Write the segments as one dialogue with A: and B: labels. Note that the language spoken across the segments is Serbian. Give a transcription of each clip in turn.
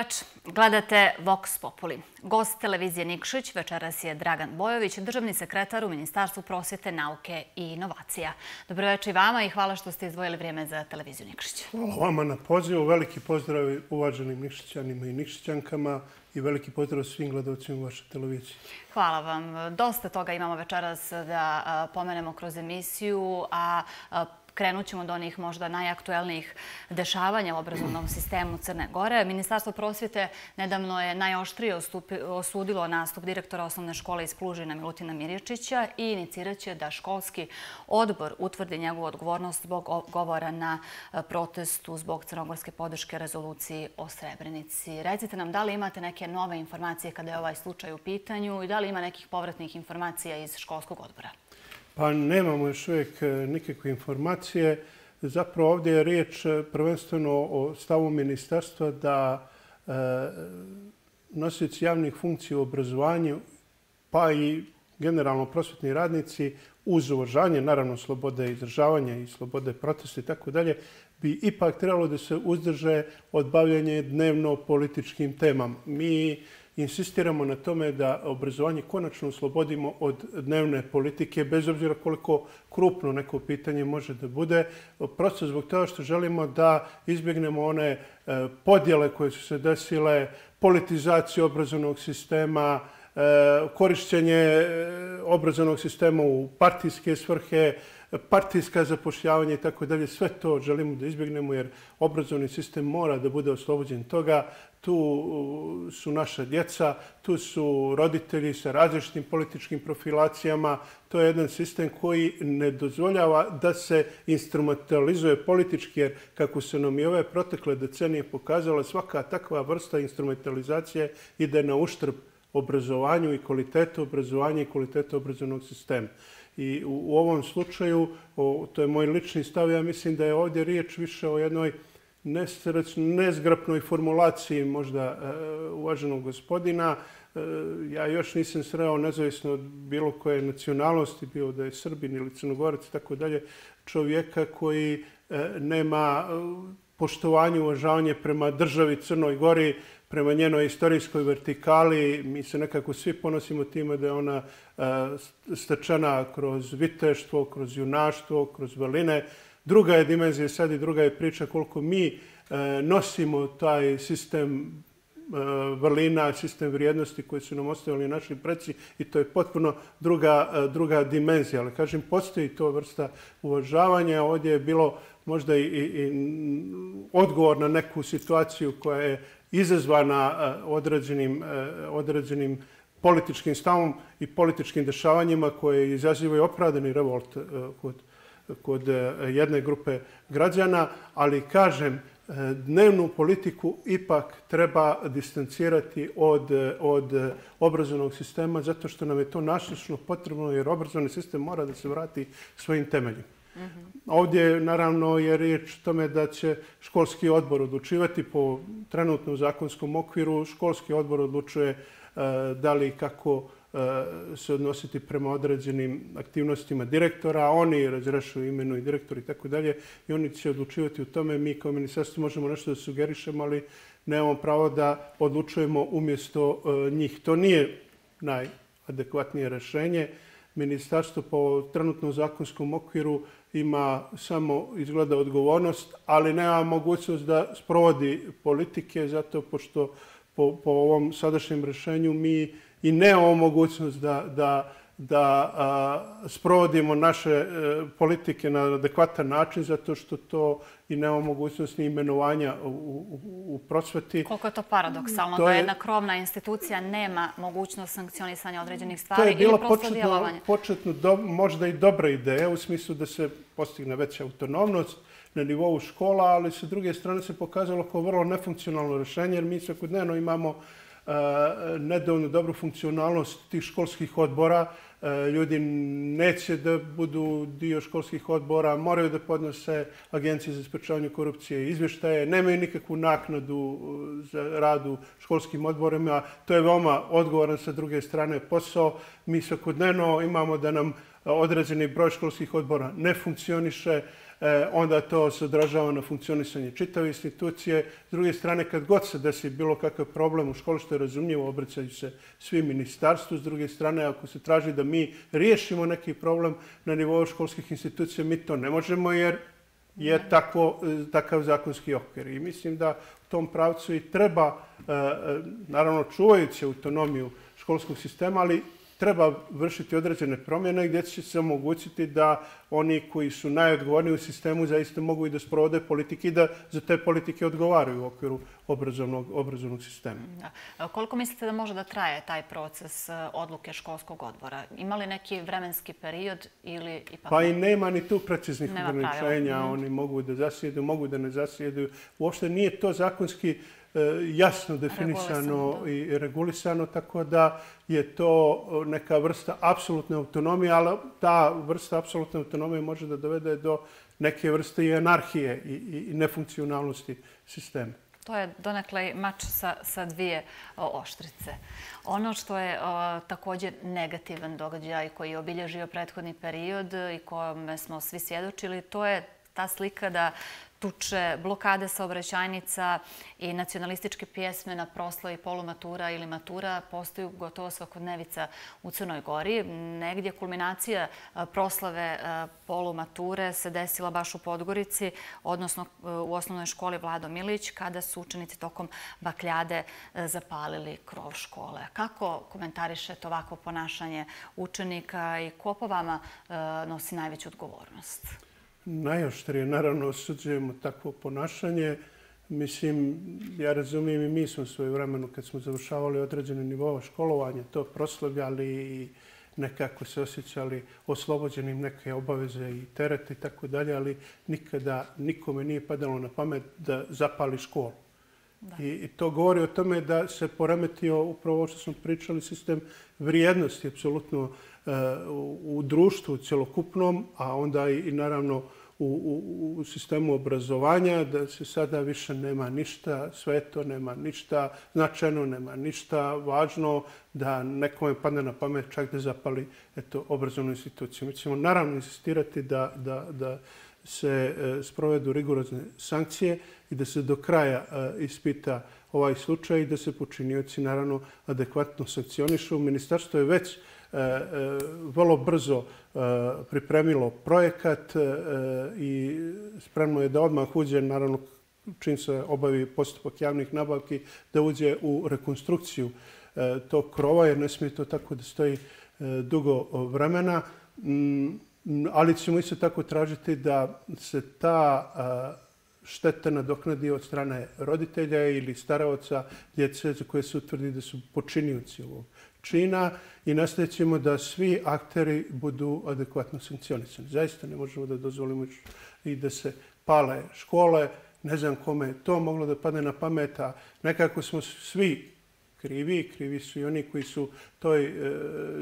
A: veče. Gledate Vox Populi. Gost televizije Nikšić večeras je Dragan Bojović, državni sekretar u Ministarstvu prosvete, nauke i inovacija. Dobro veče i vama i hvala što ste izdvojili vrijeme za televiziju Nikšić.
B: Hvala vama na pozivu. Veliki pozdrav uvaženim Nikšićanima i Nikšićankama i veliki pozdrav svim gledalcima vaše televizije.
A: Hvala vam. Dosta toga imamo večeras da pomenemo kroz emisiju, a krenut ćemo do onih možda najaktuelnijih dešavanja u obrazovnom sistemu Crne Gore. Ministarstvo prosvjete nedavno je najoštrije osudilo nastup direktora osnovne škole iz Plužina Milutina Mirječića i inicirat će da školski odbor utvrdi njegovu odgovornost zbog govora na protestu zbog crnogorske podrške rezoluciji o Srebrenici. Recite nam da li imate neke nove informacije kada je ovaj slučaj u pitanju i da li ima nekih povratnih informacija iz školskog odbora?
B: Pa nemamo još uvijek nikakve informacije. Zapravo ovdje je riječ prvenstveno o stavu ministarstva da nosioci javnih funkcija u obrazovanju, pa i generalno prosvjetni radnici, uz uvažanje, naravno, slobode izražavanja i slobode protesta i tako dalje, bi ipak trebalo da se uzdrže od bavljenja dnevno političkim temama. Mi insistiramo na tome da obrazovanje konačno oslobodimo od dnevne politike, bez obzira koliko krupno neko pitanje može da bude. Prosto zbog toga što želimo da izbjegnemo one podjele koje su se desile, politizaciju obrazovnog sistema, korišćenje obrazovnog sistema u partijske svrhe, partijska zapošljavanja i tako dalje. Sve to želimo da izbjegnemo jer obrazovni sistem mora da bude oslobođen toga. Tu su naša djeca, tu su roditelji sa različitim političkim profilacijama. To je jedan sistem koji ne dozvoljava da se instrumentalizuje politički, jer kako se nam i ove protekle decenije pokazala, svaka takva vrsta instrumentalizacije ide na uštrb obrazovanju i kvalitetu obrazovanja i kvalitetu obrazovnog sistema. I u ovom slučaju, to je moj lični stav, ja mislim da je ovdje riječ više o jednoj nezgrapnoj formulaciji možda uvaženog gospodina. Ja još nisam sreo, nezavisno od bilo koje nacionalnosti, bio da je Srbin ili Crnogorac i tako dalje, čovjeka koji nema poštovanje, uvažavanje prema državi Crnoj Gori, prema njenoj istorijskoj vertikali. Mi se nekako svi ponosimo time da je ona stečena kroz viteštvo, kroz junaštvo, kroz vrline. Druga je dimenzija sad i druga je priča koliko mi nosimo taj sistem vrlina, sistem vrijednosti koje su nam ostavili naši preci i to je potpuno druga dimenzija. Ali kažem, postoji to vrsta uvažavanja. Ovdje je bilo možda i odgovor na neku situaciju koja je izazvana određenim političkim stavom i političkim dešavanjima koje izazivaju opravdani revolt kod jedne grupe građana, ali kažem, dnevnu politiku ipak treba distancirati od obrazovnog sistema zato što nam je to nasušno potrebno jer obrazovni sistem mora da se vrati svojim temeljima. Ovdje naravno je riječ o tome da će školski odbor odlučivati po trenutnom zakonskom okviru. Školski odbor odlučuje da li i kako se odnositi prema određenim aktivnostima direktora. Oni razrešuju imenu i direktor i tako dalje i oni će odlučivati u tome. Mi kao ministarstvo možemo nešto da sugerišemo, ali nemamo pravo da odlučujemo umjesto njih. To nije najadekvatnije rješenje. Ministarstvo po trenutnom zakonskom okviru ima samo izgleda odgovornost, ali nema mogućnost da sprovodi politike, zato pošto po ovom sadašnjem rješenju mi i nemamo mogućnost da sprovodimo naše politike na adekvatan način, zato što to i nemamo mogućnost ni imenovanja u prosveti.
A: Koliko je to paradoksalno da jedna krovna institucija nema mogućnost sankcionisanja određenih stvari ili prosto djelovanja?
B: To je bilo početno možda i dobra ideja u smislu da se postigne veća autonomnost na nivou škola, ali sa druge strane se pokazalo kao vrlo nefunkcionalno rješenje jer mi svakodnevno imamo nedovoljno dobru funkcionalnost tih školskih odbora. Ljudi neće da budu dio školskih odbora, moraju da podnose Agencije za sprečavanje korupcije i izvještaje, nemaju nikakvu naknadu za rad u školskim odborima. To je veoma odgovoran sa druge strane posao. Mi svakodnevno imamo da nam određeni broj školskih odbora ne funkcioniše. onda to se odražava na funkcionisanje čitave institucije. S druge strane, kad god se desi bilo kakav problem u školi, što je razumljivo, obraćaju se svi ministarstvu. S druge strane, ako se traži da mi riješimo neki problem na nivou školskih institucija, mi to ne možemo jer je takav zakonski okvir. I mislim da u tom pravcu i treba, naravno čuvajući autonomiju školskog sistema, ali treba vršiti određene promjene gdje će se omogućiti da oni koji su najodgovorniji u sistemu zaista mogu i da sprovode politike i da za te politike odgovaraju u okviru obrazovnog sistema.
A: Koliko mislite da može da traje taj proces odluke školskog odbora? Ima li neki vremenski period ili ipak...
B: Pa i nema ni tu preciznih ograničenja. Oni mogu da zasjedu, mogu da ne zasjedu. Uopšte nije to zakonski jasno definisano i regulisano, tako da je to neka vrsta apsolutne autonomije, ali ta vrsta apsolutne autonomije može da dovede do neke vrste i anarhije i nefunkcionalnosti sistema.
A: To je donekle mač sa dvije oštrice. Ono što je također negativan događaj koji je obilježio prethodni period i kome smo svi svjedočili, to je ta slika da tuče, blokade saobraćajnica i nacionalističke pjesme na proslavi polumatura ili matura postaju gotovo svakodnevica u Crnoj Gori. Negdje kulminacija proslave polumature se desila baš u Podgorici, odnosno u osnovnoj školi Vlado Milić, kada su učenici tokom bakljade zapalili krov škole. Kako komentarišete ovakvo ponašanje učenika i ko po vama nosi najveću odgovornost?
B: Najoštrije, naravno, osuđujemo takvo ponašanje. Mislim, ja razumijem i mi smo svoje vremenu kad smo završavali određene nivoa školovanja, to proslavljali i nekako se osjećali oslobođenim neke obaveze i terete i tako dalje, ali nikada nikome nije padalo na pamet da zapali školu. I to govori o tome da se poremetio upravo ovo što smo pričali, sistem vrijednosti, apsolutno u društvu cjelokupnom, a onda i naravno u sistemu obrazovanja, da se sada više nema ništa sveto, nema ništa značajno, nema ništa važno, da nekome padne na pamet čak da zapali obrazovnu instituciju. Mi ćemo naravno insistirati da se sprovedu rigorozne sankcije i da se do kraja ispita ovaj slučaj i da se počinioci naravno adekvatno sankcionišu. Ministarstvo je već vrlo brzo pripremilo projekat i spremno je da odmah uđe, naravno čim se obavi postupak javnih nabavki, da uđe u rekonstrukciju tog krova, jer ne smije to tako da stoji dugo vremena. Ali ćemo isto tako tražiti da se ta šteta nadoknadi od strane roditelja ili staraoca djece za koje se utvrdi da su počinioci ovog čina i nastavit ćemo da svi akteri budu adekvatno sankcionisani. Zaista ne možemo da dozvolimo i da se pale škole. Ne znam kome je to moglo da padne na pamet, a nekako smo svi krivi su i oni koji su toj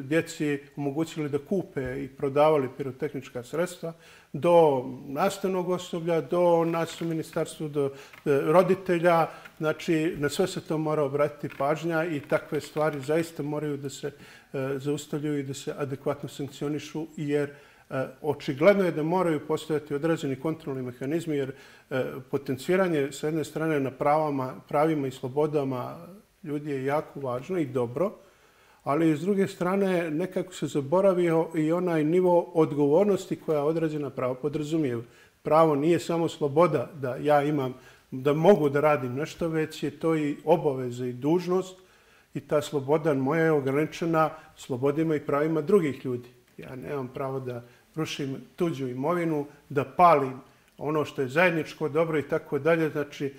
B: djeci omogućili da kupe i prodavali pirotehnička sredstva, do nastavnog osoblja, do nas u ministarstvu, do roditelja. Znači, na sve se to mora obratiti pažnja i takve stvari zaista moraju da se zaustavljaju i da se adekvatno sankcionišu, jer očigledno je da moraju postojati određeni kontrolni mehanizmi, jer potenciranje s jedne strane na pravima i slobodama ljudi je jako važno i dobro, ali s druge strane nekako se zaboravio i onaj nivo odgovornosti koja određena pravo podrazumijeva. Pravo nije samo sloboda da ja imam, da mogu da radim nešto, već je to i obaveza i dužnost i ta sloboda moja je ograničena slobodima i pravima drugih ljudi. Ja nemam pravo da rušim tuđu imovinu, da palim ono što je zajedničko dobro i tako dalje. Znači,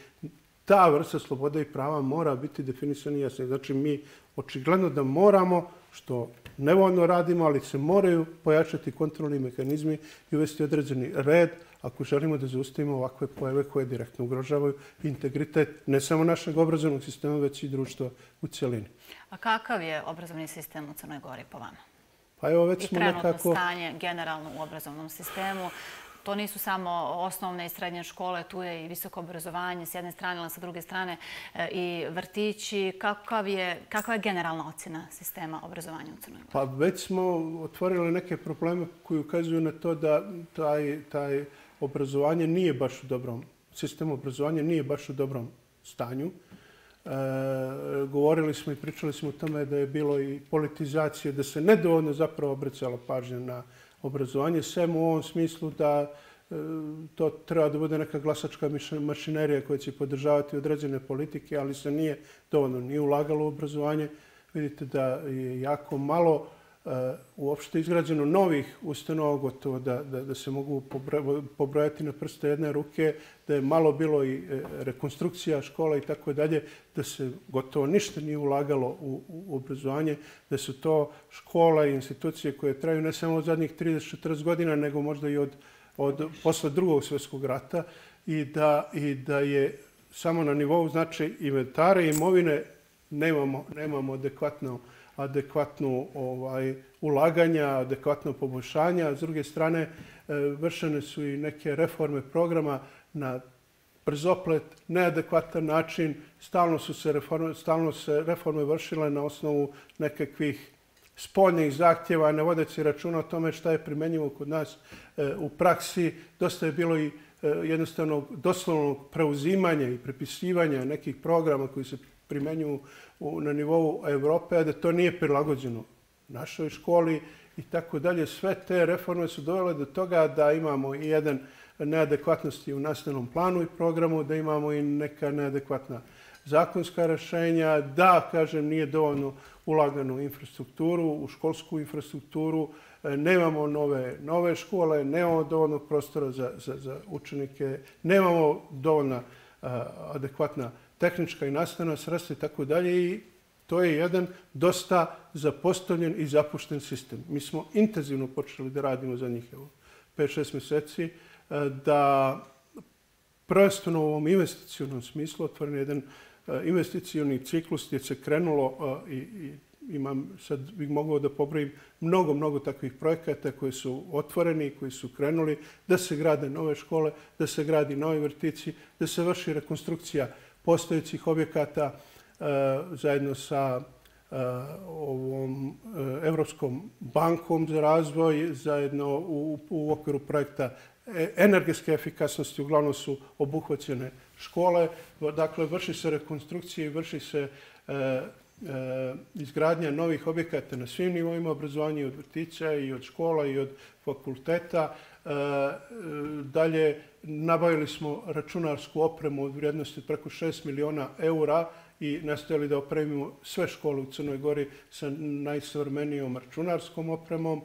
B: ta vrsta slobode i prava mora biti definisana i jasna. Znači, mi očigledno da moramo, što nevoljno radimo, ali se moraju pojačati kontrolni mehanizmi i uvesti određeni red ako želimo da zaustavimo ovakve pojave koje direktno ugrožavaju integritet ne samo našeg obrazovnog sistema, već i društva u cjelini.
A: A kakav je obrazovni sistem u Crnoj Gori po vama?
B: Pa evo, već
A: i
B: smo
A: trenutno
B: nekako
A: stanje generalno u obrazovnom sistemu. To nisu samo osnovne i srednje škole, tu je i visoko obrazovanje s jedne strane, ali sa druge strane i vrtići. Kakva je generalna ocjena sistema obrazovanja u Crnoj Gori?
B: Pa već smo otvorili neke probleme koji ukazuju na to da taj obrazovanje nije baš u dobrom, sistem obrazovanja nije baš u dobrom stanju. Govorili smo i pričali smo o tome da je bilo i politizacije, da se nedovoljno zapravo obracala pažnja na obrazovanje, sem u ovom smislu da to treba da bude neka glasačka mašinerija koja će podržavati određene politike, ali se nije dovoljno ni ulagalo u obrazovanje. Vidite da je jako malo uopšte izgrađeno novih ustanova, gotovo da se mogu pobrojati na prste jedne ruke, da je malo bilo i rekonstrukcija škola i tako dalje, da se gotovo ništa nije ulagalo u obrazovanje, da su to škola i institucije koje traju ne samo od zadnjih 30-40 godina, nego možda i od posle Drugog svjetskog rata i da je samo na nivou znači inventara i imovine nemamo adekvatnu ulaganja, adekvatno poboljšanja. S druge strane, vršene su i neke reforme programa na brzoplet, neadekvatan način. Stalno se reforme vršile na osnovu nekakvih spoljnih zahtjeva, ne vodeći računa o tome šta je primenjivo kod nas u praksi. Dosta je bilo i jednostavno doslovnog preuzimanja i prepisivanja nekih programa koji se primenjuju na nivou Evrope, a da to nije prilagođeno našoj školi i tako dalje. Sve te reforme su dovele do toga da imamo i jedan neadekvatnosti u nastavnom planu i programu, da imamo i neka neadekvatna zakonska rješenja, da, kažem, nije dovoljno ulagano u infrastrukturu, u školsku infrastrukturu, nemamo nove škole, nemamo dovoljnog prostora za učenike, nemamo dovoljna adekvatna tehnička i nastavna sredstva i tako dalje i to je jedan dosta zapostavljen i zapušten sistem. Mi smo intenzivno počeli da radimo za njih 5-6 mjeseci, da prvenstveno u ovom investicionom smislu otvoren jedan investicioni ciklus gdje se krenulo i sad bih mogao da pobrojim mnogo takvih projekata koji su otvoreni i koji su krenuli, da se grade nove škole, da se gradi novi vrtići, da se vrši rekonstrukcija postojećih objekata zajedno sa ovom Evropskom bankom za razvoj, zajedno u okviru projekta energetske efikasnosti, uglavnom su obuhvaćene škole. Dakle, vrši se rekonstrukcija i vrši se izgradnja novih objekata na svim nivoima obrazovanja, i od vrtića, i od škola, i od fakulteta. Dalje, nabavili smo računarsku opremu od vrijednosti preko 6 miliona eura i nastojali da opremimo sve škole u Crnoj Gori sa najsavremenijom računarskom opremom.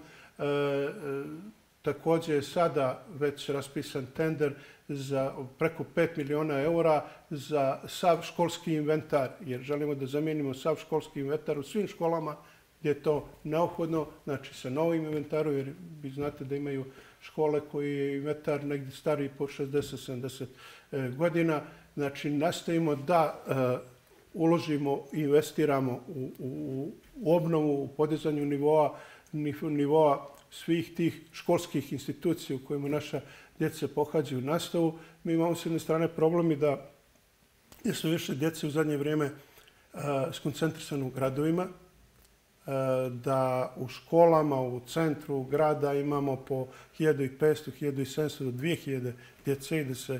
B: Također je sada već raspisan tender za preko 5 miliona eura za sav školski inventar, jer želimo da zamijenimo sav školski inventar u svim školama gdje je to neophodno, znači sa novim inventarom, jer vi znate da imaju škole koji je inventar negdje stariji po 60-70 godina. Znači, nastojimo da uložimo i investiramo u obnovu, u podizanju nivoa svih tih školskih institucija u kojima naša djeca pohađaju nastavu. Mi imamo s jedne strane problemi da su više djece u zadnje vrijeme skoncentrisano u gradovima, da u školama u centru grada imamo po 1500, 1700 do 2000 djece i da se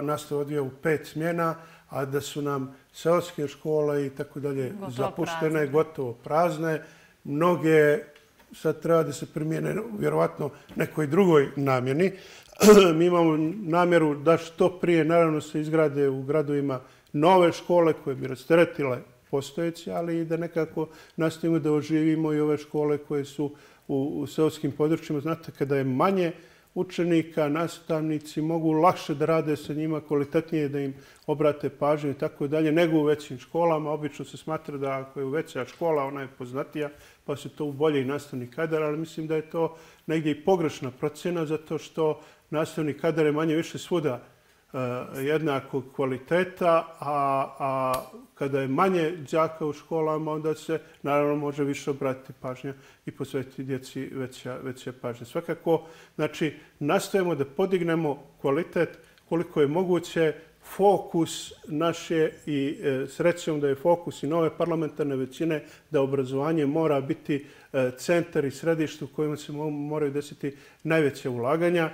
B: nastava odvija u 5 smjena, a da su nam seoske škole i tako dalje zapuštene, gotovo prazne. Mnoge sad treba da se primijene vjerovatno nekoj drugoj namjeni. Mi imamo namjeru da što prije naravno se izgrade u gradovima nove škole koje bi rasteretile postojeće, ali i da nekako nastavimo da oživimo i ove škole koje su u seoskim područjima. Znate, kada je manje učenika, nastavnici mogu lakše da rade sa njima, kvalitetnije da im obrate pažnju i tako dalje, nego u većim školama. Obično se smatra da ako je veća škola, ona je poznatija, pa se to u bolji nastavni kadar, ali mislim da je to negdje i pogrešna procjena, zato što nastavni kadar je manje više svuda jednakog kvaliteta, a kada je manje đaka u školama, onda se naravno može više obratiti pažnja i posvetiti djeci veća pažnja. Svakako, znači, nastojimo da podignemo kvalitet koliko je moguće. Fokus naše i srećom da je fokus i nove parlamentarne većine da obrazovanje mora biti centar i središte u kojima se moraju desiti najveće ulaganja.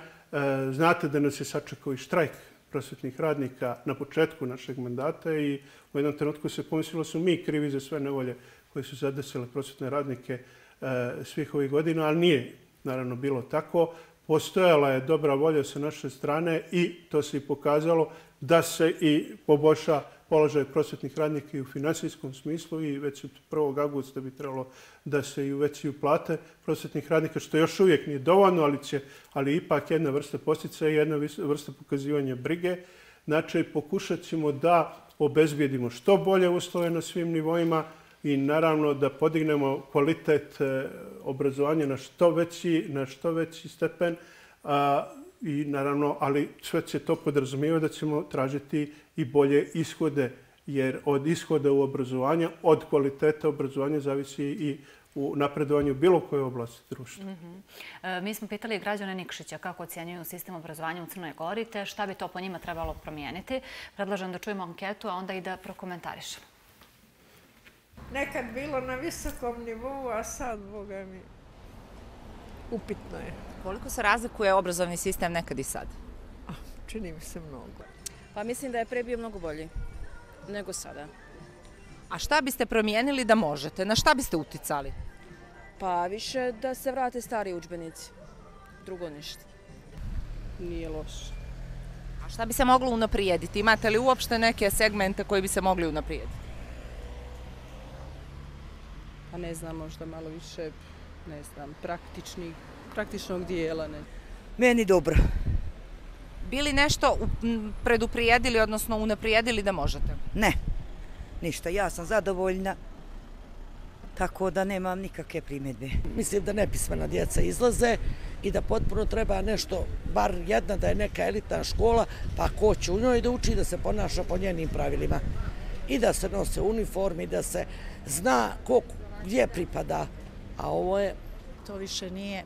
B: Znate da nas je sačekao i štrajk prosvetnih radnika na početku našeg mandata i u jednom trenutku se pomislilo su mi krivi za sve nevolje koje su zadesile prosvetne radnike svih ovih godina, ali nije naravno bilo tako. Postojala je dobra volja sa naše strane i to se i pokazalo da se i poboljša položaj prosvetnih radnika i u finansijskom smislu i već od 1. augusta bi trebalo da se i uvećaju plate prosvetnih radnika, što još uvijek nije dovoljno, ali ipak jedna vrsta podsticaja i jedna vrsta pokazivanja brige. Znači, pokušat ćemo da obezbijedimo što bolje uslove na svim nivoima i naravno da podignemo kvalitet obrazovanja na što veći stepen. I naravno, ali sve će to podrazumijevati da ćemo tražiti i bolje ishode, jer od ishoda u obrazovanju, od kvaliteta obrazovanja zavisi i u napredovanju bilo koje oblasti društva.
A: Mi smo pitali građane Nikšića kako ocjenjuju sistem obrazovanja u Crnoj Gori, te šta bi to po njima trebalo promijeniti. Predlažem da čujemo anketu, a onda i da prokomentarišemo.
C: Nekad bilo na visokom nivou, a sad, boga mi, upitno je.
D: Koliko se razlikuje obrazovni sistem nekad i sad?
C: Čini mi se mnogo.
E: Pa mislim da je pre bio mnogo bolji nego sada.
D: A šta biste promijenili da možete? Na šta biste uticali?
E: Pa više da se vrate stari udžbenici. Drugo ništa.
C: Nije loše.
D: A šta bi se moglo unaprijediti? Imate li uopšte neke segmente koji bi se mogli unaprijediti?
F: Pa ne znam, možda malo više, ne znam, praktičnog dijela. Ne.
G: Meni dobro.
D: Bili nešto preduprijedili, odnosno unaprijedili da možete?
G: Ne, ništa. Ja sam zadovoljna, tako da nemam nikakve primjedbe.
H: Mislim da nepismena djeca izlaze i da potpuno treba nešto, bar jedna da je neka elitna škola, pa ko će u njoj da uči da se ponaša po njenim pravilima. I da se nose uniformi, da se zna ko gdje pripada. A ovo je...
I: To više nije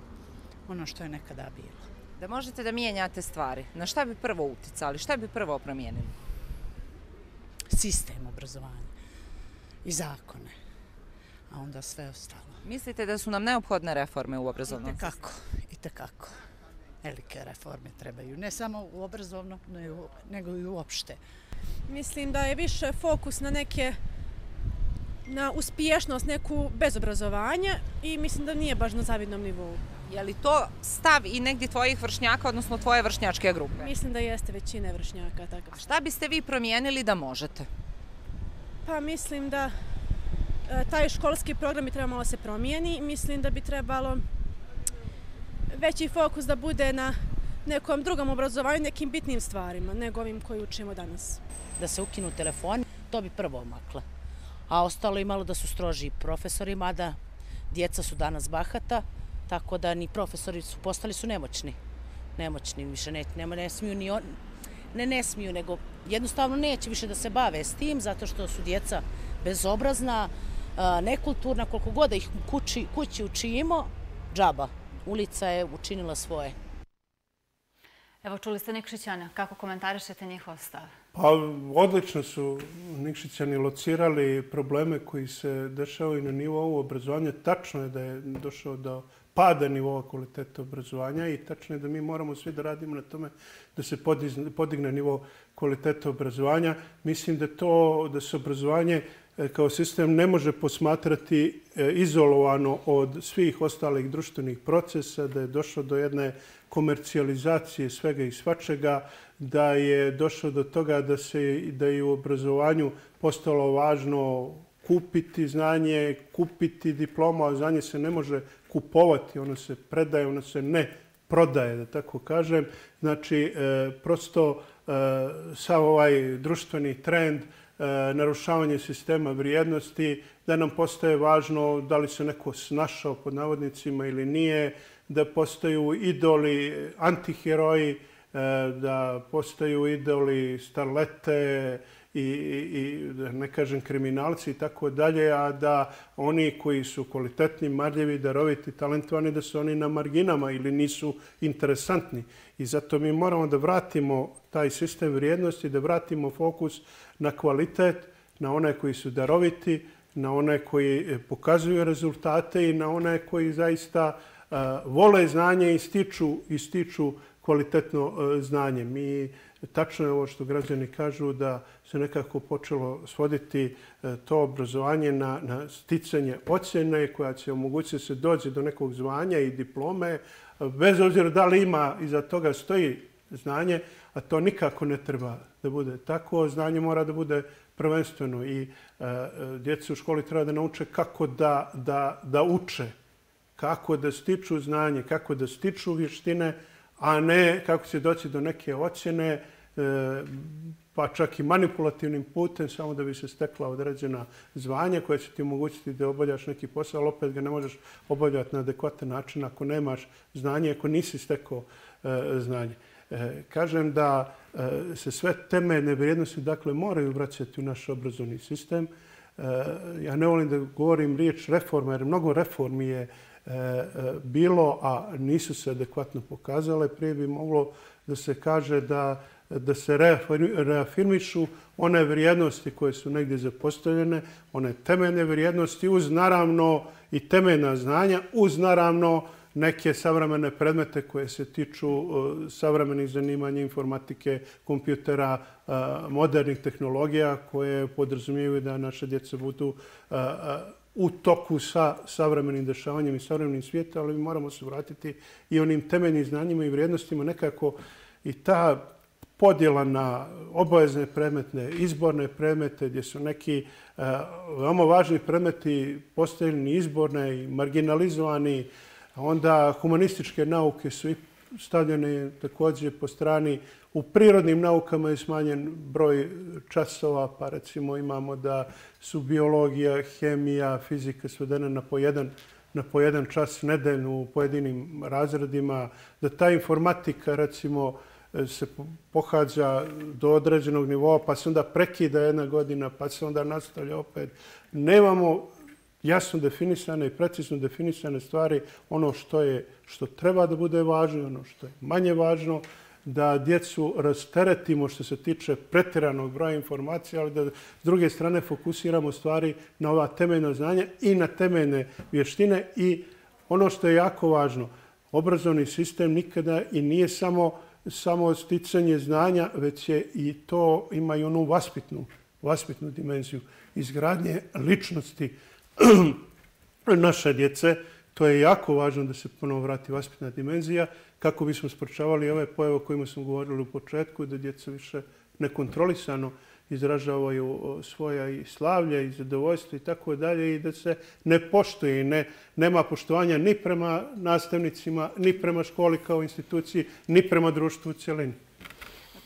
I: ono što je nekada bilo.
D: Da možete da mijenjate stvari, na šta bi prvo uticali, šta bi prvo promijenili?
I: Sistem obrazovanja i zakone, a onda sve ostalo.
D: Mislite da su nam neophodne reforme u obrazovnom
I: sistemu? Itekako. Velike reforme trebaju, ne samo u obrazovnom, nego i uopšte.
J: Mislim da je više fokus na uspješnost neku bez obrazovanja i mislim da nije baš na zavidnom nivou.
D: Je li to stav i negdje tvojih vršnjaka, odnosno tvoje vršnjačke grupe?
J: Mislim da jeste većine vršnjaka. Tako.
D: A šta biste vi promijenili da možete?
J: Pa mislim da taj školski program bi trebalo se promijeni. Mislim da bi trebalo veći fokus da bude na nekom drugom obrazovanju, nekim bitnim stvarima, nego ovim koji učimo danas.
I: Da se ukinu telefoni, to bi prvo omakla. A ostalo imalo da su stroži profesori, mada djeca su danas bahata, tako da ni profesori postali su nemoćni. Nemoćni više ne smiju ni on, ne smiju, nego jednostavno neće više da se bave s tim, zato što su djeca bezobrazna, nekulturna, koliko god da ih kući učimo, džaba. Ulica je učinila svoje.
A: Evo, čuli ste Nikšićana. Kako komentarišete njihov stav?
B: Pa, odlično su Nikšićani locirali probleme koji se dešavaju na nivou obrazovanja. Tačno je da je došao do pada nivoa kvaliteta obrazovanja i tačno je da mi moramo svi da radimo na tome da se podigne nivo kvaliteta obrazovanja. Mislim da se obrazovanje kao sistem ne može posmatrati izolovano od svih ostalih društvenih procesa, da je došlo do jedne komercijalizacije svega i svačega, da je došlo do toga da je u obrazovanju postalo važno kupiti znanje, kupiti diploma, a znanje se ne može kupovati, ono se predaje, ono se ne prodaje, da tako kažem. Znači, prosto sav ovaj društveni trend, narušavanje sistema vrijednosti, da nam postaje važno da li se neko snašao pod navodnicima ili nije, da postaju idoli, antiheroji, da postaju idoli starlete i da ne kažem kriminalci i tako dalje, a da oni koji su kvalitetni, marljivi, daroviti, talentovani, da su oni na marginama ili nisu interesantni. I zato mi moramo da vratimo taj sistem vrijednosti, da vratimo fokus na kvalitet, na one koji su daroviti, na one koji pokazuju rezultate i na one koji zaista vole znanje i stiču kvalitetno znanje. Tačno je ovo što građani kažu da se nekako počelo svoditi to obrazovanje na sticanje ocjene koja će omogućiti da se dođe do nekog zvanja i diplome, bez obzira da li iza toga stoji znanje, a to nikako ne treba da bude tako. Znanje mora da bude prvenstveno i djeca u školi treba da nauče kako da uče, kako da stiču znanje, kako da stiču vještine, a ne kako će doći do neke ocjene, pa čak i manipulativnim putem, samo da bi se stekla određena zvanja koja će ti omogućiti da obavljaš neki posao, ali opet ga ne možeš obavljati na adekvatan način ako nemaš znanje, ako nisi stekao znanje. Kažem da se sve temeljne vrijednosti moraju vraćati u naš obrazovni sistem. Ja ne volim da govorim riječ reforma, jer mnogo reformi je bilo, a nisu se adekvatno pokazale. Prije bi moglo da se kaže da se reafirmišu one vrijednosti koje su negdje zapostavljene, one temeljne vrijednosti uz naravno i temeljna znanja, uz naravno neke savremene predmete koje se tiču savremenih zanimanja, informatike, kompjutera, modernih tehnologija koje podrazumijevaju da naše djeca budu u toku sa savremenim dešavanjem i savremenim svijetom, ali moramo se vratiti i onim temeljnim znanjima i vrijednostima nekako i ta podjela na obavezne predmete, izborne predmete, gdje su neki veoma važni predmeti postavljeni izborne i marginalizovani. Onda humanističke nauke su stavljene također po strani. U prirodnim naukama je smanjen broj časova, pa recimo imamo da su biologija, hemija, fizika svedene na po jedan čas nedeljno u pojedinim razredima, da ta informatika recimo se pohađa do određenog nivoa, pa se onda prekida jedna godina, pa se onda nastavlja opet. Nemamo jasno definisane i precizno definisane stvari, ono što treba da bude važno i ono što je manje važno, da djecu rasteretimo što se tiče pretjeranog broja informacija, ali da s druge strane fokusiramo stvari na ova temeljna znanja i na temeljne vještine. I ono što je jako važno, obrazovni sistem nikada i nije samo sticanje znanja, već je i to ima i onu vaspitnu dimenziju izgradnje ličnosti naše djece. To je jako važno da se ponovo vrati vaspitna dimenzija kako bismo sprečavali ove pojave o kojima smo govorili u početku, da djeca više nekontrolisano izražavaju svoja i slavlja i zadovoljstva i tako dalje i da se ne poštuje i nema poštovanja ni prema nastavnicima, ni prema školi kao instituciji, ni prema društvu u cjelini.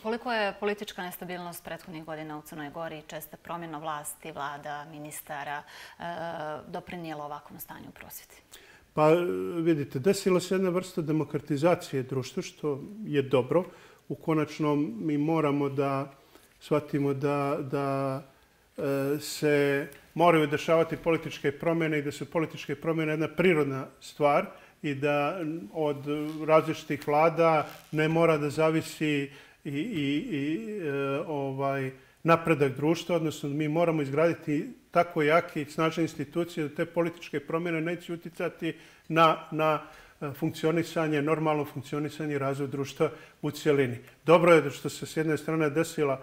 A: Koliko je politička nestabilnost prethodnih godina u Crnoj Gori i česta promjena vlasti, vlada, ministara doprinijela ovakvom stanju u prosvjeti?
B: Pa vidite, desila se jedna vrsta demokratizacije društva, što je dobro. U konačnom mi moramo da shvatimo da se moraju dešavati političke promjene i da su političke promjene jedna prirodna stvar i da od različitih vlada ne mora da zavisi napredak društva, odnosno mi moramo izgraditi tako jake i snažne institucije da te političke promjene neće utjecati na funkcionisanje, normalno funkcionisanje i razvoj društva u cjelini. Dobro je što se s jedne strane desila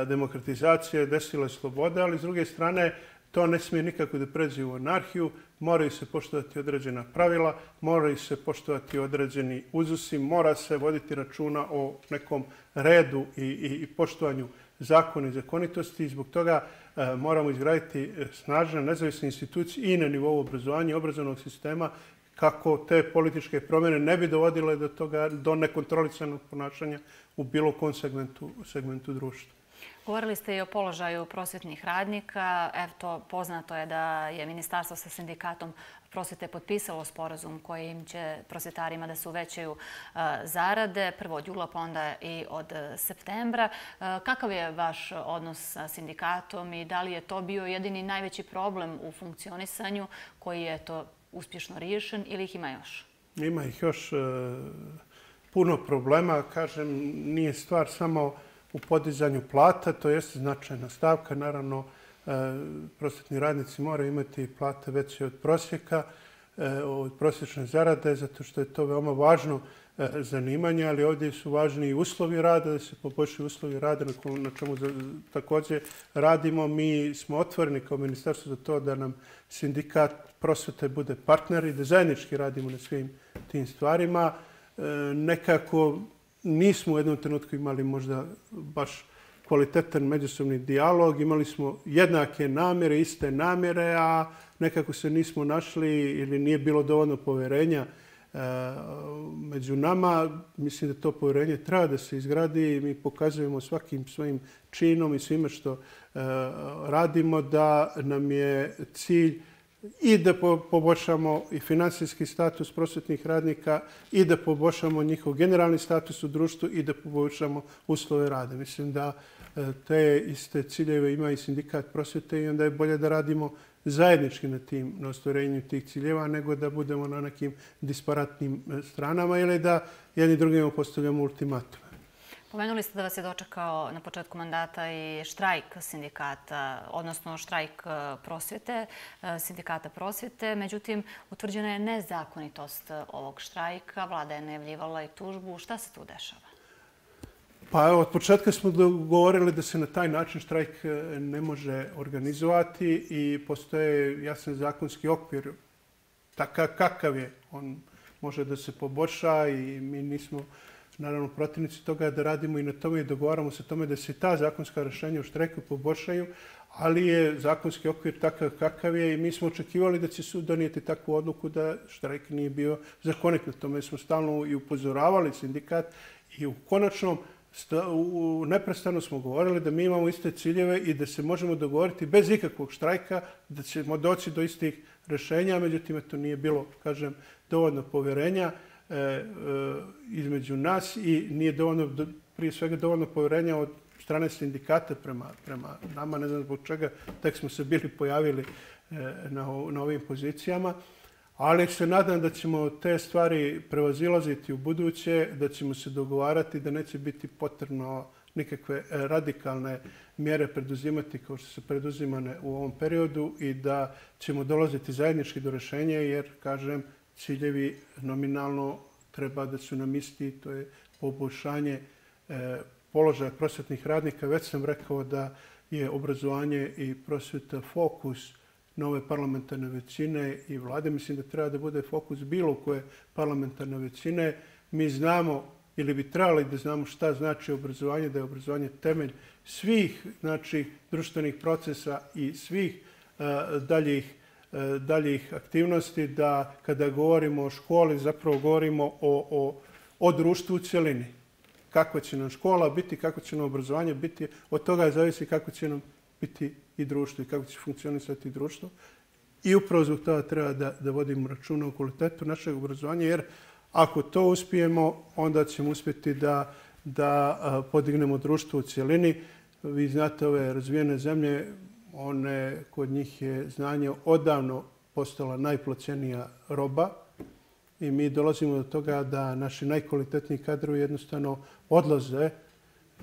B: demokratizacija, desila je sloboda, ali s druge strane to ne smije nikako da pređe u anarhiju, moraju se poštovati određena pravila, moraju se poštovati određeni uzusi, mora se voditi računa o nekom redu i poštovanju zakona i zakonitosti i zbog toga moramo izgraditi snažne nezavisne institucije i na nivou obrazovanja i obrazovnog sistema kako te političke promjene ne bi dovodile do nekontrolisanog ponašanja u bilo kom segmentu društva.
A: Govorili ste i o položaju prosvjetnih radnika. Eto, poznato je da je ministarstvo sa sindikatom prosvjete potpisalo sporazum kojim će prosvjetarima da se uvećaju zarade, prvo od jula pa onda i od septembra. Kakav je vaš odnos sa sindikatom i da li je to bio jedini najveći problem u funkcionisanju koji je to uspješno riješen ili ih ima još?
B: Ima ih još puno problema. Kažem, nije stvar samo u podizanju plata, to jeste značajna stavka. Naravno, prosvjetni radnici moraju imati plate veće od prosjeka. od prosječne zarade, zato što je to veoma važno zanimanje, ali ovdje su važni i uslovi rada, da se poboljšaju uslovi rada, na čemu također radimo. Mi smo otvoreni kao ministarstvo za to da nam sindikat prosvete bude partner i da zajednički radimo na svim tim stvarima. Nekako nismo u jednom trenutku imali možda baš kvalitetan međusobni dijalog, imali smo jednake namjere, iste namjere, a nekako se nismo našli ili nije bilo dovoljno poverenja među nama. Mislim da to povjerenje treba da se izgradi i mi pokazujemo svakim svojim činom i svime što radimo da nam je cilj i da poboljšamo i finansijski status prosvetnih radnika i da poboljšamo njihov generalni status u društvu i da poboljšamo uslove rada. Mislim da te iste ciljeve ima i sindikat prosvete i onda je bolje da radimo zajednički na ostvarenju tih ciljeva nego da budemo na nekim disparatnim stranama ili da jedni drugima postavljamo ultimatume.
A: Pomenuli ste da vas je dočekao na početku mandata i štrajk sindikata, odnosno štrajk prosvjete, sindikata prosvjete. Međutim, utvrđena je nezakonitost ovog štrajka. Vlada je najavljivala i tužbu. Šta se tu dešava?
B: Pa evo, od početka smo dogovorili da se na taj način štrajk ne može organizovati i postoje jasan zakonski okvir takav kakav je. On može da se poboljša i mi nismo naravno protivnici toga da radimo i na tome i dogovaramo se tome da se ta zakonska rješenja u štrajku poboljšaju, ali je zakonski okvir takav kakav je i mi smo očekivali da će sud donijeti takvu odluku da štrajk nije bio zakonit. Na tome smo stalno i upozoravali sindikat i u konačnom neprestano smo govorili da mi imamo iste ciljeve i da se možemo dogovoriti bez ikakvog štrajka, da ćemo doći do istih rješenja, međutim to nije bilo, kažem, dovoljno povjerenja između nas i nije dovoljno, prije svega dovoljno povjerenja od strane sindikata prema nama. Ne znam zbog čega, tek smo se bili pojavili na ovim pozicijama. Ali se nadam da ćemo te stvari prevazilaziti u buduće, da ćemo se dogovarati, da neće biti potrebno nikakve radikalne mjere preduzimati kao što su preduzimane u ovom periodu i da ćemo dolaziti zajednički do rješenja jer, kažem, ciljevi nominalno treba da su nam isti, to je poboljšanje položaja prosvetnih radnika. Već sam rekao da je obrazovanje i prosveta fokus nove parlamentarne većine i vlade. Mislim da treba da bude fokus bilo koje parlamentarne većine. Mi znamo ili bi trebali da znamo šta znači obrazovanje, da je obrazovanje temelj svih društvenih procesa i svih daljih aktivnosti, da kada govorimo o školi zapravo govorimo o društvu u cjelini. Kakva će nam škola biti, kako će nam obrazovanje biti, od toga zavisi kako će nam biti i društvo i kako će funkcionisati društvo. I upravo zbog toga treba da vodimo računa o kvalitetu našeg obrazovanja, jer ako to uspijemo, onda ćemo uspjeti da podignemo društvo u cjelini. Vi znate, ove razvijene zemlje, kod njih je znanje odavno postala najplaćenija roba i mi dolazimo do toga da naši najkvalitetniji kadrovi jednostavno odlaze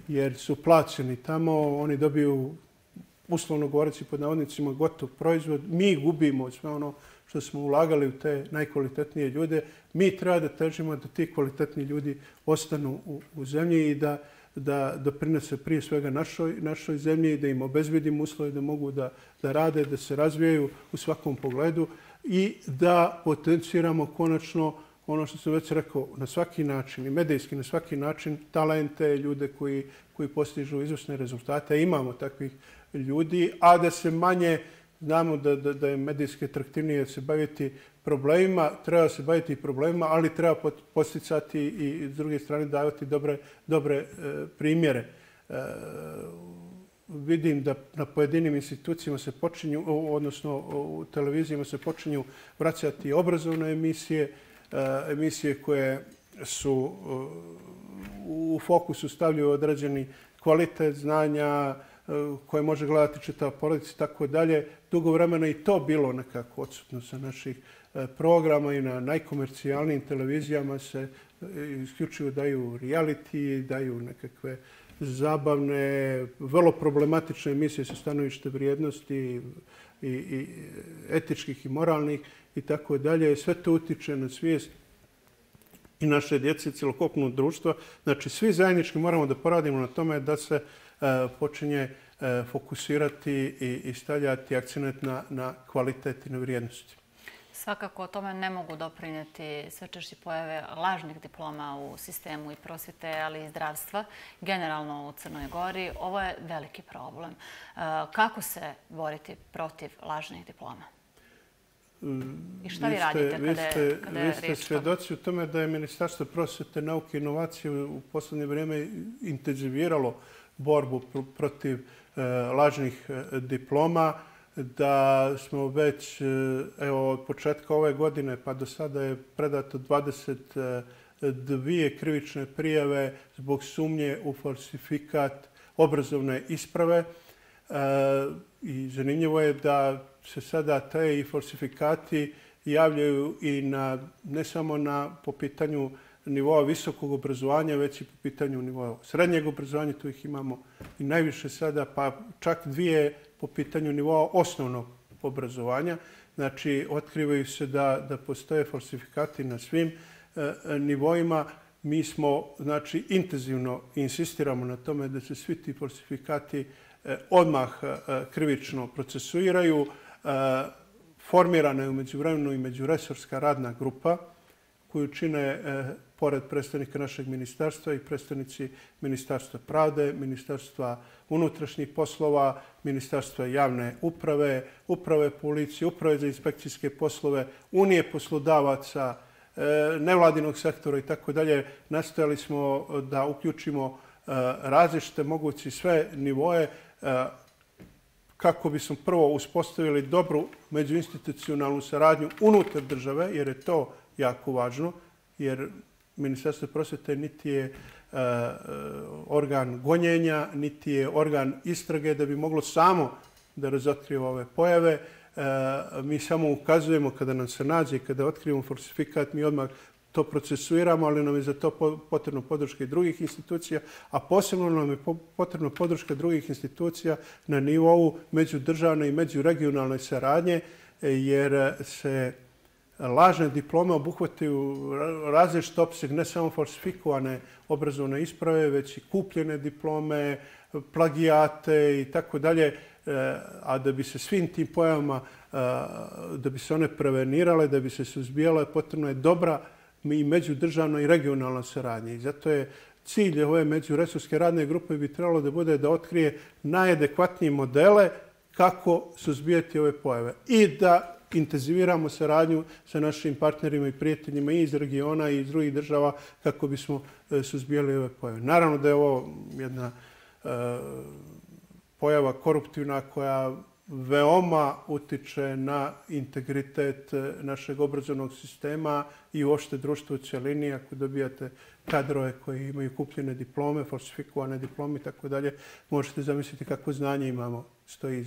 B: jer su plaćeni tamo, oni dobiju, uslovno govoreći pod navodnicima, gotov proizvod. Mi gubimo sve ono što smo ulagali u te najkvalitetnije ljude. Mi treba da težimo da ti kvalitetni ljudi ostanu u zemlji i da doprinose prije svega našoj zemlji i da im obezbedimo uslove da mogu da rade, da se razvijaju u svakom pogledu i da potenciramo konačno ono što sam već rekao, na svaki način i medijski na svaki način talente, ljude koji postižu izvrsne rezultate. Imamo takvih ljudi, a da se manje, znamo da je medijski atraktivnije se baviti problemima, treba se baviti problemima, ali treba posticati i s druge strane davati dobre primjere. Vidim da na pojedinim institucijama se počinju, odnosno u televizijama se počinju vraćati obrazovne emisije koje su u fokusu stavljaju određeni kvalitet znanja koje može gledati čitava porodica i tako dalje. Dugo vremena i to bilo nekako odsutno sa naših programa i na najkomercijalnijim televizijama se isključivo daju reality, daju nekakve zabavne, vrlo problematične emisije sa stanovište vrijednosti i etičkih i moralnih. i tako dalje. Sve to utiče na svijest i naše djece i cjelokupnog društva. Znači, svi zajednički moramo da poradimo na tome da se počinje fokusirati i stavljati akcent na kvalitet i na vrijednosti.
A: Svakako o tome ne mogu doprinijeti sve češće pojave lažnih diploma u sistemu i prosvjete, ali i zdravstva, generalno u Crnoj Gori. Ovo je veliki problem. Kako se boriti protiv lažnih diploma? I šta vi radite kada je riječ o tome?
B: Vi ste svjedoci u tome da je Ministarstvo prosvjete, nauke i inovacije u posljednje vrijeme intenziviralo borbu protiv lažnih diploma, da smo već od početka ove godine pa do sada je predato 22 krivične prijave zbog sumnje u falsifikat obrazovne isprave. I zanimljivo je da se sada te falsifikati javljaju i ne samo po pitanju nivoa visokog obrazovanja, već i po pitanju nivoa srednjeg obrazovanja. Tu ih imamo i najviše sada, pa čak 2 po pitanju nivoa osnovnog obrazovanja. Znači, otkrivaju se da postoje falsifikati na svim nivoima. Mi smo, znači, intenzivno insistiramo na tome da se svi ti falsifikati odmah krivično procesuiraju. Formirana je u međuvremenu i međuresorska radna grupa koju čine, pored predstavnika našeg ministarstva, i predstavnici Ministarstva pravde, Ministarstva unutrašnjih poslova, Ministarstva javne uprave, Uprave policije, Uprave za inspekcijske poslove, Unije poslodavaca, nevladinog sektora i tako dalje. Nastojali smo da uključimo različite mogući sve nivoe kako bismo prvo uspostavili dobru međuinstitucionalnu saradnju unutar države, jer je to jako važno, jer Ministarstvo prosvjete niti je organ gonjenja, niti je organ istrage da bi moglo samo da razotkrije ove pojave. Mi samo ukazujemo kada nam se nađe, kada otkrijemo falsifikat, mi odmah to procesuiramo, ali nam je za to potrebno podrška i drugih institucija, a posebno nam je potrebno podrška drugih institucija na nivou međudržavne i međuregionalne saradnje, jer se lažne diplome obuhvataju različit opseg, ne samo falsifikovane obrazovne isprave, već i kupljene diplome, plagijate i tako dalje. A da bi se svim tim pojavama, da bi se one prevenirale, da bi se suzbijale, potrebno je dobra i međudržavna i regionalna saradnja. I zato je cilj ove međuresorske radne grupe bi trebalo da bude da otkrije najadekvatnije modele kako suzbijati ove pojave i da intenziviramo saradnju sa našim partnerima i prijateljima i iz regiona i iz drugih država kako bismo suzbijali ove pojave. Naravno da je ovo jedna pojava koruptivna koja veoma utiče na integritet našeg obrazovnog sistema i uopšte društva u cjelini. Ako dobijate kadrove koji imaju kupljene diplome, falsifikovane diplome i tako dalje, možete zamisliti kakvo znanje imamo stoji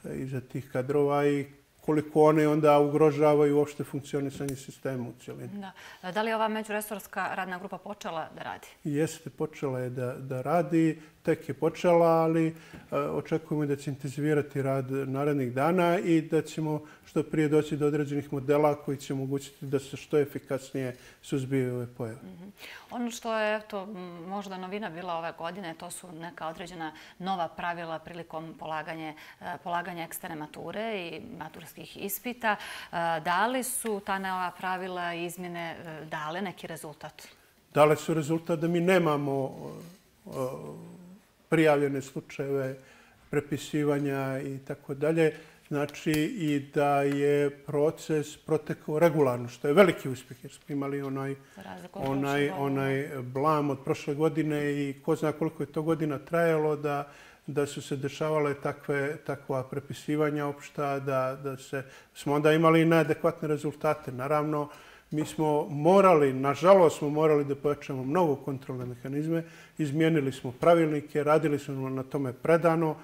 B: iza tih kadrova i koliko one onda ugrožavaju uopšte funkcionisanje sistema u cjelini.
A: Da li je ova međuresorska radna grupa počela da radi?
B: Jeste, počela je da radi. Tek je počela, ali očekujemo da će intenzivirati rad narednih dana i da ćemo što prije doći do određenih modela koji će omogućiti da se što efikasnije suzbiju ove pojave.
A: Ono što je možda novina bila ove godine, to su neka određena nova pravila prilikom polaganja eksterne mature i maturskih ispita. Da li su ta nova pravila i izmjene dale neki rezultat?
B: Dale su rezultat da mi nemamo prijavljene slučajeve prepisivanja i tako dalje. Znači i da je proces protekao regularno, što je veliki uspjeh jer smo imali onaj blam od prošle godine i ko zna koliko je to godina trajalo da su se dešavale takva prepisivanja opšta, da smo onda imali i neadekvatne rezultate. Naravno, mi smo nažalost smo morali da pojačamo mnogo kontrolne mehanizme, izmijenili smo pravilnike, radili smo na tome predano,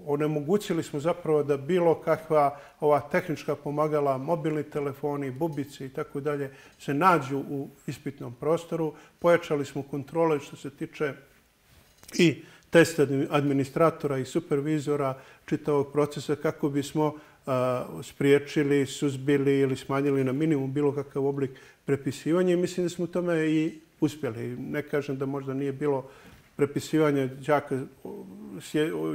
B: onemogućili smo zapravo da bilo kakva ova tehnička pomagala, mobilni telefoni, bubice i tako dalje se nađu u ispitnom prostoru. Pojačali smo kontrole što se tiče i testa administratora i supervizora čitavog procesa kako bismo spriječili, suzbili ili smanjili na minimum bilo kakav oblik prepisivanja i mislim da smo u tome i uspjeli. Ne kažem da možda nije bilo prepisivanja đaka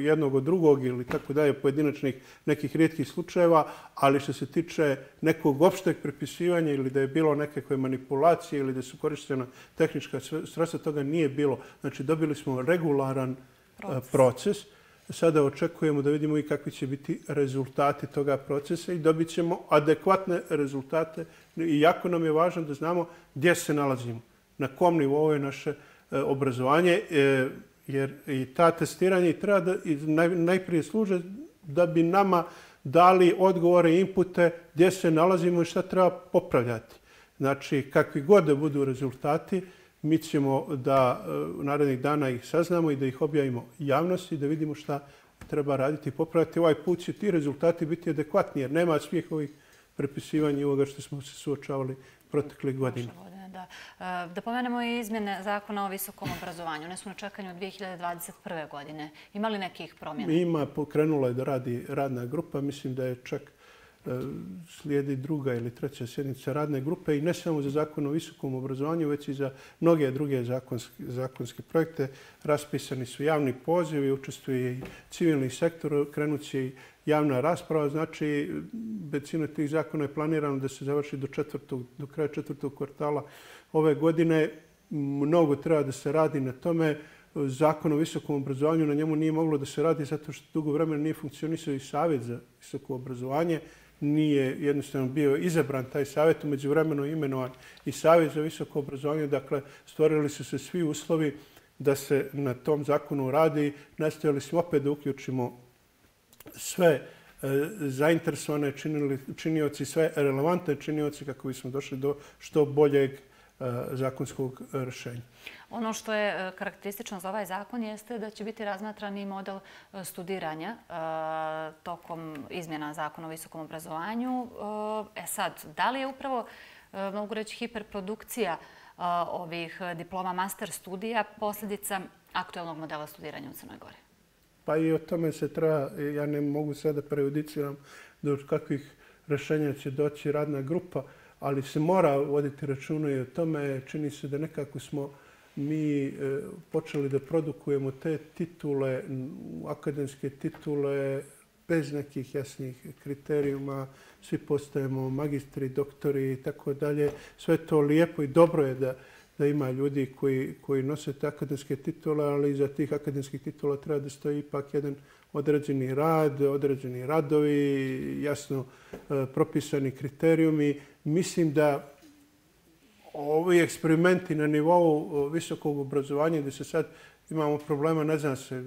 B: jednog od drugog ili tako dalje, pojedinačnih nekih rijetkih slučajeva, ali što se tiče nekog opšteg prepisivanja ili da je bilo nekakve manipulacije ili da su korištena tehnička sredstva, toga nije bilo. Znači, dobili smo regularan proces. Sada očekujemo da vidimo i kakvi će biti rezultati toga procesa i dobit ćemo adekvatne rezultate. I jako nam je važno da znamo gdje se nalazimo, na kom nivou je naše obrazovanje, jer i ta testiranja treba da najprije služe da bi nama dali odgovore i inpute gdje se nalazimo i šta treba popravljati. Znači, kakvi god da budu rezultati, mi ćemo da narednih dana ih saznamo i da ih objavimo javnosti, da vidimo šta treba raditi i popraviti. Ovaj put će ti rezultati biti adekvatni, jer nema svih ovih prepisivanja i ovoga što smo se suočavali proteklih godina.
A: Da pomenemo i izmjene zakona o visokom obrazovanju. One su na čekanju od 2021. godine. Ima li nekih promjena?
B: Ima, pokrenula je da radi radna grupa. Mislim da je čak slijedi druga ili treća sjednica radne grupe i ne samo za zakon o visokom obrazovanju, već i za mnoge druge zakonske projekte. Raspisani su javni pozivi, učestvuje i civilni sektor, krenut će i javna rasprava. Znači, većina tih zakona je planirano da se završi do kraja četvrtog kvartala ove godine. Mnogo treba da se radi na tome. Zakon o visokom obrazovanju, na njemu nije moglo da se radi zato što dugo vremena nije funkcionisao i Savjet za visoko obrazovanje. Nije jednostavno bio izabran taj savjet, umeđu vremenu imenovan i Savjet za visoko obrazovanje. Dakle, stvorili su se svi uslovi da se na tom zakonu radi. Nastojali smo opet da uključimo sve zainteresovane činioci, sve relevantne činioci kako bismo došli do što boljeg zakonskog rješenja.
A: Ono što je karakteristično za ovaj zakon jeste da će biti razmatrani model studiranja tokom izmjena zakona o visokom obrazovanju. Sad, da li je upravo, mogu reći, hiperprodukcija ovih diploma master studija posljedica aktuelnog modela studiranja u Crnoj Gori?
B: Pa i o tome se treba, ja ne mogu sada prejudiciram do kakvih rješenja će doći radna grupa, ali se mora voditi računa i o tome. Čini se da nekako smo mi počeli da produkujemo te titule, akademske titule, bez nekih jasnih kriterijuma. Svi postajemo magistri, doktori i tako dalje. Sve to lijepo i dobro je da ima ljudi koji nose te akademske titule, ali iza tih akademskih titula treba da stoji ipak jedan određeni rad, određeni radovi, jasno propisani kriterijumi. Mislim da ovi eksperimenti na nivou visokog obrazovanja gdje se sad imamo problema, ne znam se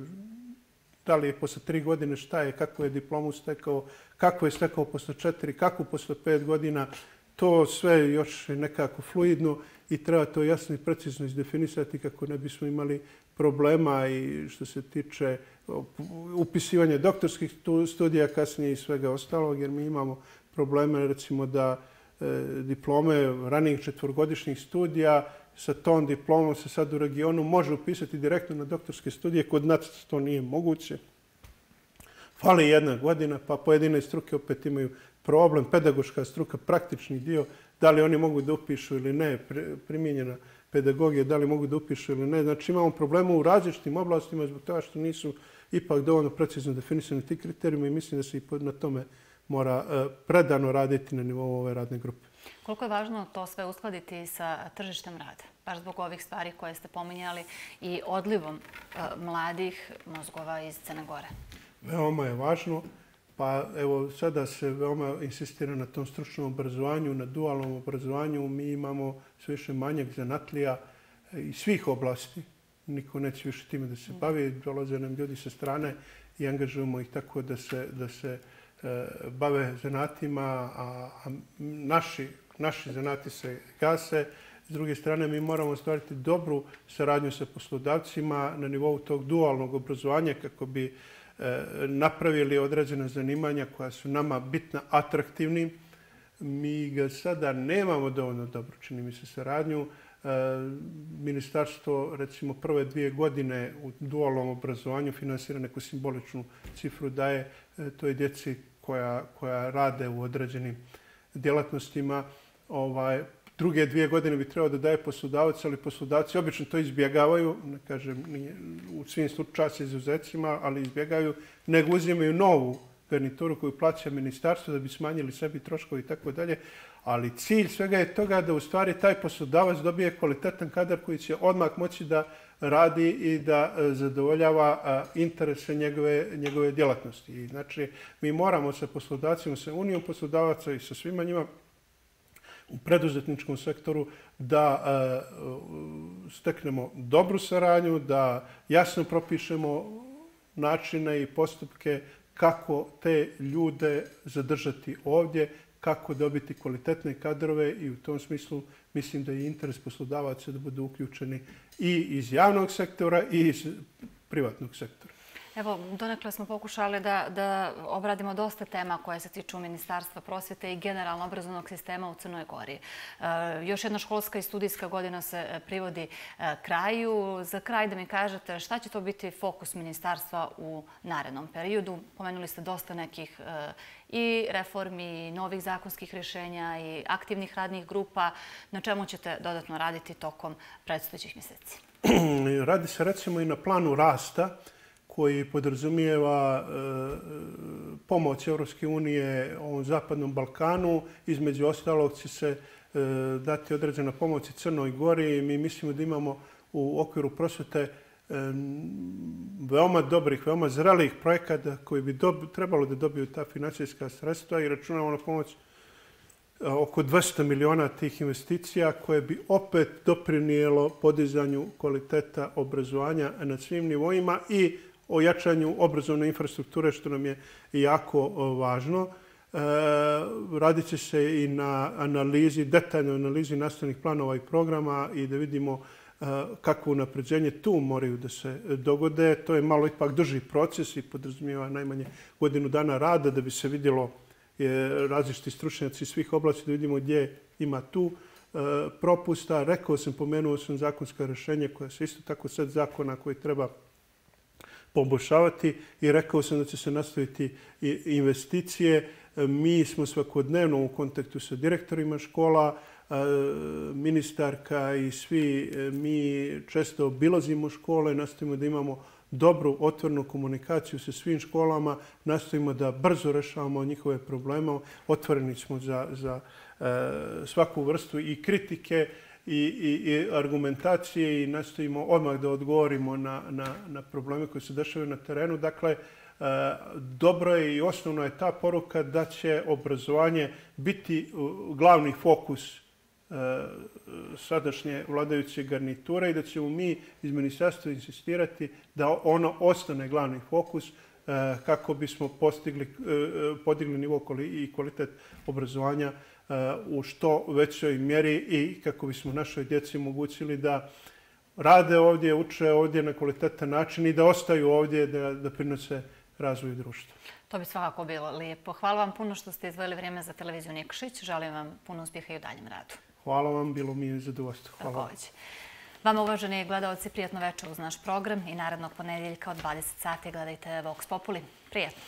B: da li je posle 3 godine šta je, kako je diplomu stekao, kako je stekao posle 4, kako posle 5 godina, to sve još je nekako fluidno i treba to jasno i precizno izdefinisati kako ne bismo imali problema i što se tiče upisivanja doktorskih studija kasnije i svega ostalog, jer mi imamo probleme recimo da diplome ranijih 4-godišnjih studija sa tom diplomom se sad u regionu može upisati direktno na doktorske studije. Kod nas to nije moguće. Fali 1 godina, pa pojedine struke opet imaju problem. Pedagoška struka, praktični dio, da li oni mogu da upišu ili ne, primijenjena pedagogija, da li mogu da upišu ili ne. Znači imamo problema u različitim oblastima zbog toga što nisu ipak dovoljno precizno definisani ti kriterijumi i mislim da se i na tome mora predano raditi na nivou ove radne grupe.
A: Koliko je važno to sve uskladiti sa tržištem rada? Baš zbog ovih stvari koje ste pominjali i odlivom mladih mozgova iz Crne Gore.
B: Veoma je važno. Pa evo sada se veoma insistira na tom stručnom obrazovanju, na dualnom obrazovanju. Mi imamo sve više manjak zanatlija iz svih oblasti. Niko neće više time da se bavi. Dolaze nam ljudi sa strane i angažujemo ih tako da se bave zanatima, a naši zanati se gase. S druge strane, mi moramo ostvariti dobru saradnju sa poslodavcima na nivou tog dualnog obrazovanja kako bi napravili određena zanimanja koja su nama bitna, atraktivni. Mi ga sada nemamo dovoljno dobro, čini mi se, saradnju. Ministarstvo, recimo, prve 2 godine u dualnom obrazovanju finansira neku simboličnu cifru daje toj djeci koja rade u određenim djelatnostima. Druge 2 godine bi trebao da daje poslodavac, ali poslodavci obično to izbjegavaju, ne kažem u svim slučajevima izuzecima, ali izbjegavaju, nego uzimaju novu garnituru koju plaća ministarstvo da bi smanjili sebi troškovi i tako dalje. Ali cilj svega je toga da u stvari taj poslodavac dobije kvalitetan kadar koji će odmah moći da radi i da zadovoljava interese njegove djelatnosti. I znači, mi moramo sa poslodavcima, sa Unijom poslodavaca i sa svima njima u preduzetničkom sektoru da steknemo dobru saradnju, da jasno propišemo načine i postupke kako te ljude zadržati ovdje, kako dobiti kvalitetne kadrove i u tom smislu mislim da je interes poslodavaca da budu uključeni i iz javnog sektora i iz privatnog sektora.
A: Evo, donekle smo pokušali da obradimo dosta tema koje se tiču Ministarstva prosvete i generalno obrazovnog sistema u Crnoj Gori. Još jedna školska i studijska godina se privodi kraju. Za kraj da mi kažete šta će to biti fokus Ministarstva u narednom periodu? Pomenuli ste dosta nekih i reformi, i novih zakonskih rješenja, i aktivnih radnih grupa. Na čemu ćete dodatno raditi tokom predstojećih mjeseci?
B: Radi se recimo i na planu rasta koji podrazumijeva pomoć Europske unije ovom Zapadnom Balkanu. Između ostalog će se dati određena pomoć i Crnoj Gori. Mi mislimo da imamo u okviru prosvete veoma dobrih, veoma zrelih projekata koji bi trebalo da dobiju ta financijska sredstva i računamo na pomoć oko 200 miliona tih investicija koje bi opet doprinijelo podizanju kvaliteta obrazovanja na svim nivoima i o jačanju obrazovne infrastrukture, što nam je jako važno. Radit će se i na analizi, detaljnoj analizi nastavnih planova i programa i da vidimo kakvo unapređenje tu moraju da se dogode. To je malo ipak duži proces i podrazumijeva najmanje godinu dana rada da bi se vidjelo različiti stručnjaci svih oblasti, da vidimo gdje ima tu propusta. Pomenuo sam zakonska rješenja koja su isto tako set zakona koji treba poboljšavati i rekao sam da će se nastaviti investicije. Mi smo svakodnevno u kontaktu sa direktorima škola, ministarka i svi mi često obilazimo škole, nastavimo da imamo dobru, otvorenu komunikaciju sa svim školama, nastavimo da brzo rešavamo njihove probleme, otvoreni smo za svaku vrstu i kritike i argumentacije i nastavimo odmah da odgovorimo na probleme koji se dešavaju na terenu. Dakle, dobro je i osnovno je ta poruka da će obrazovanje biti glavni fokus sadašnje vladajuće garniture i da ćemo mi iz ministarstva insistirati da ono ostane glavni fokus kako bismo podigli nivo i kvalitet obrazovanja u što većoj mjeri i kako bismo našoj djeci omogućili da rade ovdje, uče ovdje na kvalitetan način i da ostaju ovdje, da prinose razvoju društva.
A: To bi svakako bilo lijepo. Hvala vam puno što ste izdvojili vrijeme za televiziju Nikšić. Želim vam puno uspjeha i u daljem radu.
B: Hvala vam, bilo mi je zadovoljstvo. Hvala.
A: Vama, uvaženi gledalci, prijatno večer uz naš program i narednog ponedjeljka od 20 sati gledajte Vox Populi. Prijetno!